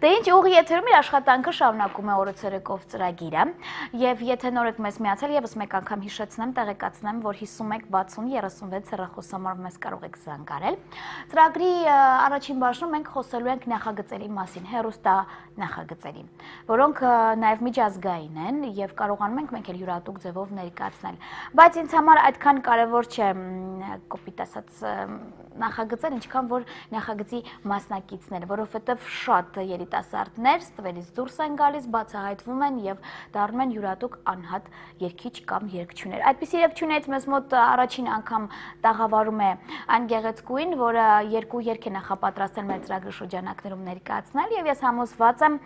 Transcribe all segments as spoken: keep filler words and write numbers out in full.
Դե ինչ ուղի եթերում իր աշխատանքը շարունակում է օրը ցերեկով ծրագիրը եւ եթե նոր եք մեզ միացել եւս մեկ անգամ հիշեցնեմ, տեղեկացնեմ, որ հիսունմեկ բացուն երեսունվեց հեռախոսամարով մեզ կարող եք զանգարել։ Ծրագրի առաջին բաժնում մենք խոսելու ենք նախագծերի մասին, հեռուստա նախագծերի, որոնք նաեւ միջազգային են եւ կարողանում ենք մենք էլ յուրատուկ ձևով ներկայացնել։ Բայց ինձ համար այդքան կարեւոր չէ կոպիտ ասած նախագծեր, ինչքան որ նախագծի մասնակիցները, որովհետեւ շատ երիտասարդներ ստվերից դուրս են գալիս, բացահայտվում են եւ դառնում են յուրատուկ անհատ երգիչ կամ երգչուներ։ Այդպիսի երգչուներից մեզ մոտ առաջին անգամ տաղավարում է այն գեղեցկուին, որը երկու երգ է նախապատրաստել մեր ծրագրի շրջանակներում ներկայացնել եւ ես համոզված եմ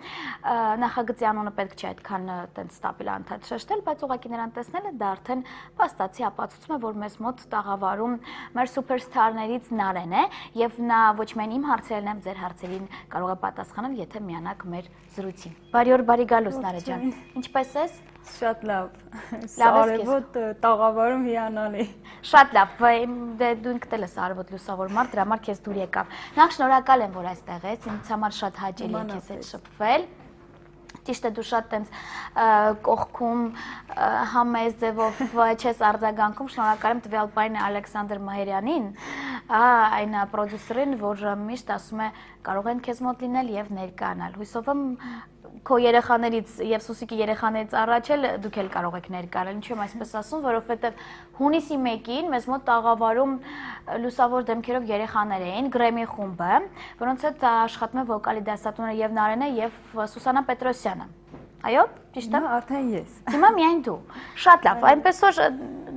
նախագծի անունը պետք չէ այդքան տենց ստաբիլ անդադ շեշտել, բայց ուղղակի նրան տեսնելը դա արդեն փաստացի ապացուցում է, որ մեզ մոտ տաղավարում մեր սուպերստարներից Նարեն է եւ նա ոչ միայն իմ հարցերն եմ, ձեր հարցերին կարող է պատասխանել, եթե միանաք մեր զրույցին։ Բարի օր, բարի գալուս Նարե ջան։ Ինչպե՞ս ես։ Շատ լավ։ Արևոտ տաղավարում հիանալի։ Շատ լավ, դե դու ինքդ ես արևոտ լուսավոր մարդ, դրա համար քեզ դուր եկավ։ Նախ շնորհակալ եմ, որ այստեղ ես, ինձ համար շատ հաճելի է քեզ հետ շփվել։ Ճիշտ է, դու շատ տենց կողքում համեզ ձևով չես արձագանքում, շնորհակալ եմ տվյալ պայն Ալեքսանդր Մահերյանին, այն պրոդյուսերին, որ միշտ ասում է կարող են քեզ մոտ լինել եւ ներկայանալ։ Հույսով եմ քո երեխաներից եւ Սուսիկի երեխաներից առաջ էլ դուք էլ կարող եք ներկայանալ, ինչու եմ այսպես ասում, որովհետեւ հունիսի մեկին մեզ մոտ տաղավարում լուսավոր դեմքերով երեխաներ էին, Գրեմի խումբը, որոնց հետ աշխատում է վոկալի դասատուները եւ Նարենը եւ Սուսանա Պետրոսյանը։ Այո, ճիշտ է։ Արդեն ես։ Հիմա միայն դու։ Շատ լավ, այնպես որ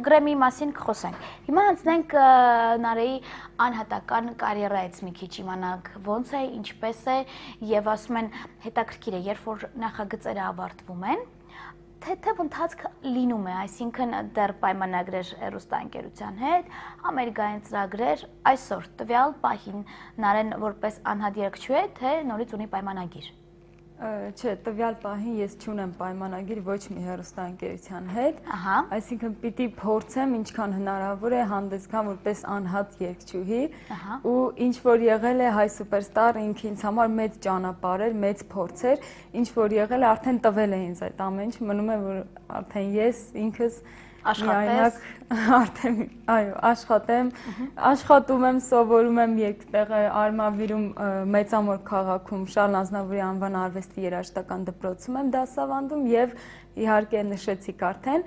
Գրեմի մասին կխոսենք։ Հիմա անցնենք Նարեի անհատական կարիերայից մի քիչ իմանանք ոնց է, ինչպես է եւ ասում են հետաքրքիր է, երբ որ նախագծերը ավարտվում են, թեթև ընթացքը լինում է, այսինքն դեռ պայմանագրեր հեռուստաընկերության հետ, ամերիկային ծրագրեր, այսօր տվյալ պահին Նարեն որպես անհատ երգչու է, թե նորից ունի պայմանագիր։ Չէ, տվյալ պահին ես չունեմ պայմանագիր ոչ մի հեռուստաընկերության հետ, այսինքն պիտի փորձեմ ինչքան հնարավոր է հանդես գամ որպես անհատ երգչուհի ու ինչ որ եղել է Հայ Սուպերստար ինքը ինձ համար մեծ ճանապարհ էր, մեծ փորձ էր, ինչ որ եղել է արդեն տվել է ինձ այդ ամեն ինչ, մնում է որ արդեն ես ինքս Աշխատես, արդեն, այո, աշխատեմ, աշխատում եմ, սովորում եմ երկտեղը Արմավիրում մեծամոր քաղաքում Շարլ Ազնավուրի անվան արվեստի երաժշտական դպրոցում եմ դասավանդում եւ իհարկե նշեցիք արդեն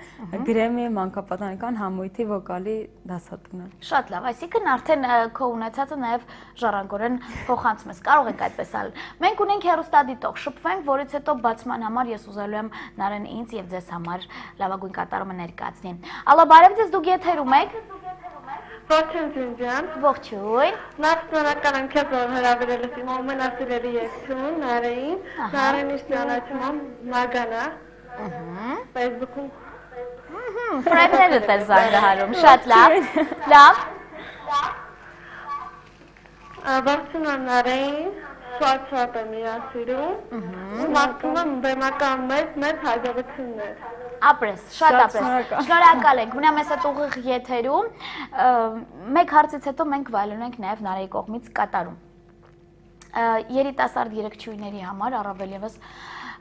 Գրեմի մանկապատանեկան համույթի վոկալի դասատունը։ Շատ լավ, այսինքն արդեն քո ունեցածը նաեւ ժառանգորեն փոխանցում ես, կարող եք այդպես ալ։ Մենք ունենք հեռուստադիտող, շփվենք, որից հետո բացման համար ես ուզելու եմ Նարեն ինձ եւ ձեզ համար լավագույն կատարումը ներկայացնի։ Ալո, բարև ձեզ, դուք եթերում եք։ Ողջույն ջան։ Ողջույն։ Նախ շնորհակալ եմ քեզ, որ հրավիրել ես իմ ամենասիրելի երգչուն Նարեին։ Նարենի ճանաչում եմ Մագանա։ Facebook-ում։ Ֆրենդները դեր զանգահարում, շատ լավ։ Լավ։ Ողջույն եմ Նարեին, շատ շատ եմ իրասիրում։ Մաղթում եմ բեմական մեծ մեծ հաջողություններ։ Ապրես, շատ ապրես։ Շնորհակալ ենք։ Ունեմ ես այդ ուղիղ եթերում։ Մեկ հարցից հետո մենք վայելում ենք նաև Նարեի կողմից կատարում։ Երիտասարդ երգչուհիների համար առավել եւս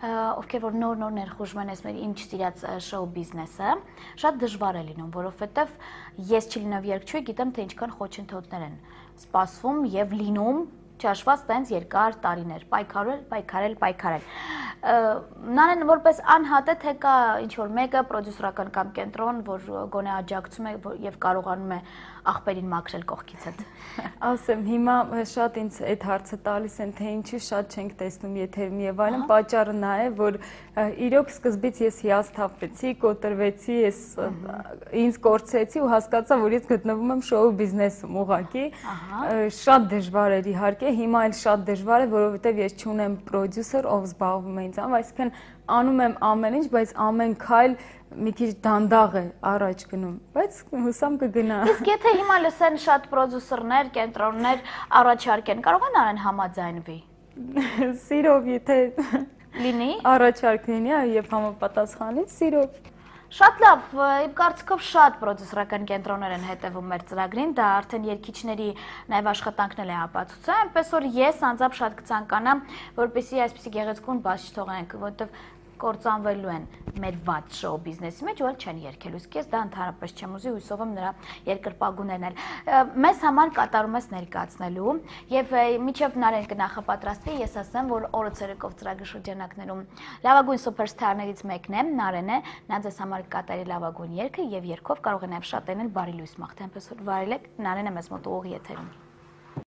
ովքեր որ նոր-նոր ներխուժում են այս մեր ինչ սիրած շոու բիզնեսը, շատ դժվար է լինում, որովհետև ես չլինով երգչուհի, գիտեմ թե ինչքան խոչընդոտներ են սպասվում եւ լինում չհաշված տենց երկար տարիներ, պայքարել, պայքարել, պայքարել։ Նարեն որպես անհատ է, թե կա ինչ-որ մեկը պրոդյուսերական կամ կենտրոն, որ գոնե աջակցում է եւ կարողանում է աղբերին մաքրել կողքից հետ։ Ասեմ, հիմա շատ ինձ այդ հարցը տալիս են, թե ինչու շատ չենք տեսնում եթերում եւ այլն, պատճառը նա է, որ իրոք սկզբից ես հիասթափվեցի, կոտրվեցի, ես ինձ կորցրեցի ու հասկացա, որ ես գտնվում եմ շոու բիզնեսում ուղղակի։ Շատ դժվար էր իհարկե, հիմա էլ շատ դժվար է, որովհետեւ ես չունեմ պրոդյուսեր, ով զբաղվում է ինձ, այսինքն անում եմ ամեն ինչ, բայց ամեն քայլ մի քիչ դանդաղ է առաջ գնում, բայց հուսամ կգնա։ Իսկ եթե հիմա լսեն շատ պրոդյուսերներ, կենտրոններ առաջարկեն, կարող են արեն համաձայնվի։ Սիրով, եթե լինի, առաջարկ լինի, եւ համապատասխանից սիրով։ Շատ լավ, իմ կարծիքով շատ պրոդյուսերական կենտրոններ են հետևում մեր ծրագրին, դա արդեն երգիչների նաև աշխատանքն էլ է ապացուցում, այնպես որ ես անձամբ շատ կցանկանամ, որպեսզի այսպիսի գեղեցկուն բաց չթողենք, որովհետև կործանվելու են մեր վատ շոու բիզնեսի մեջ, ու էլ չեն երգելու, իսկ ես դա ընդհանրապես չեմ ուզի, հույսով եմ նրա երկրպագուներն էլ։ Մեզ համար կատարում ես ներկայացնելու, եւ մինչեւ Նարեն կնախապատրաստվի, ես ասեմ, որ օրը ցերեկով ծրագրի շրջանակներում լավագույն սուպերստարներից մեկն է, Նարեն է, նա ձեզ համար կատարի լավագույն երգը եւ երգով կարող է նաեւ շատ էնել բարի լույս մաղթի, այնպես որ վարել եք, Նարենը մեզ մոտ ուղիղ եթերում։